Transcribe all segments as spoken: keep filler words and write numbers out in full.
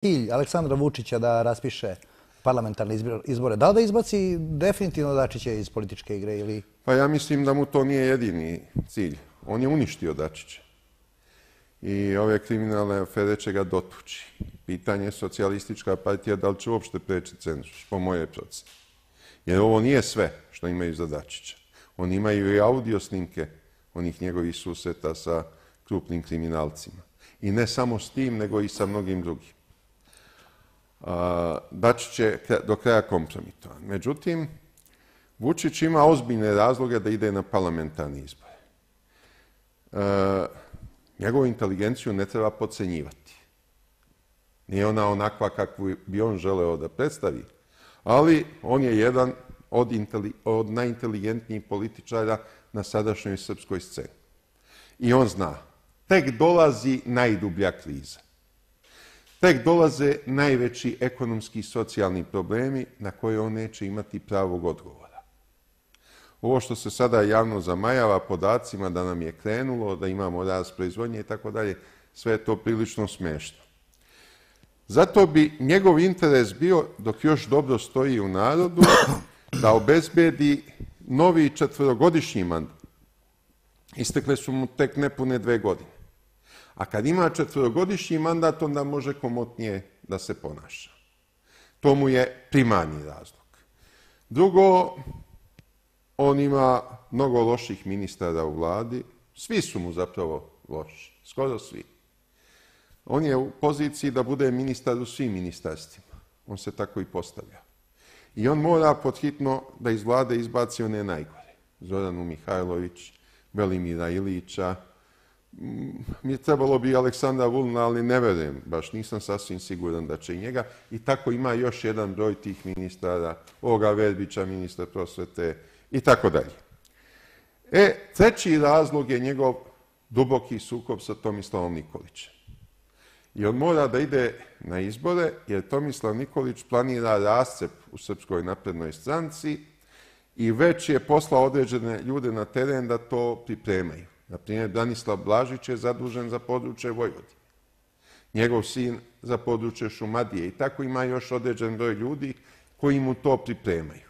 cilj Aleksandra Vučića da raspiše parlamentarne izbore? Da li da izbaci definitivno Dačića iz političke igre ili... Pa ja mislim da mu to nije jedini cilj. On je uništio Dačića. I ove kriminalne afere će ga dotući. Pitanje je socijalistička partija da li će uopšte preći cenzus, po moje procene. Jer ovo nije sve što imaju za Dačića. Oni imaju i audio snimke onih njegovih susreta sa krupnim kriminalcima. I ne samo s tim, nego i sa mnogim drugim. Dačić je do kraja kompromitovan. Međutim, Vučić ima ozbiljne razloge da ide na parlamentarne izbore. Njegovu inteligenciju ne treba podcenjivati. Nije ona onakva kakvu bi on želeo da predstavi, ali on je jedan od, od najinteligentnijih političara na sadašnjoj srpskoj sceni. I on zna, tek dolazi najdublja kriza. Tek dolaze najveći ekonomski i socijalni problemi na koje on neće imati pravog odgovora. Ovo što se sada javno zamajava podacima da nam je krenulo, da imamo rast proizvodnje i tako dalje, sve je to prilično smešno. Zato bi njegov interes bio, dok još dobro stoji u narodu, da obezbedi novi četvorogodišnji mandat. Istekle su mu tek nepune dve godine. A kad ima četvorogodišnji mandat, onda može komotnije da se ponaša. To mu je primarni razlog. Drugo, on ima mnogo loših ministara u vladi. Svi su mu zapravo loši. Skoro svi. On je u poziciji da bude ministar u svim ministarstvima. On se tako i postavlja. I on mora podhitno da iz vlade izbaci one najgore. Zoranu Mihajlović, Velimira Ilića. Mi trebalo bi Aleksandra Vulina, ali ne verujem, baš nisam sasvim siguran da će i njega. I tako ima još jedan broj tih ministara, ovoga Verbića, ministra prosvete i tako dalje. E, treći razlog je njegov duboki sukob sa Tomislavom Nikolićem. I on mora da ide na izbore, jer Tomislav Nikolić planira rascep u Srpskoj naprednoj stranci i već je poslao određene ljude na teren da to pripremaju. Naprimjer, Branislav Blažić je zadužen za područje Vojvodine. Njegov sin za područje Šumadije. I tako ima još određen broj ljudi koji mu to pripremaju.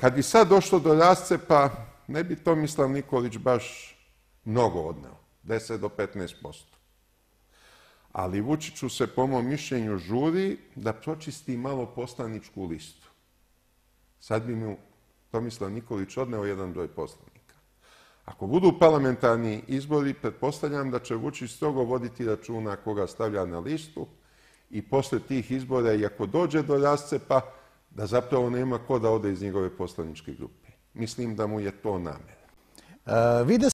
Kad bi sad došlo do rascepa, ne bi Tomislav Nikolić baš mnogo odneo. deset do petnaest posto. Ali Vučiću se, po mom mišljenju, žuri da pročisti malo poslaničku listu. Sad bi mu Tomislav Nikolić odneo jedan broj poslanika. Ako budu parlamentarni izbori, pretpostavljam da će Vučić strogo voditi računa koga stavlja na listu i posle tih izbora, i ako dođe do rascepa, da zapravo nema ko da ode iz njegove poslaničke grupe. Mislim da mu je to namera. Vide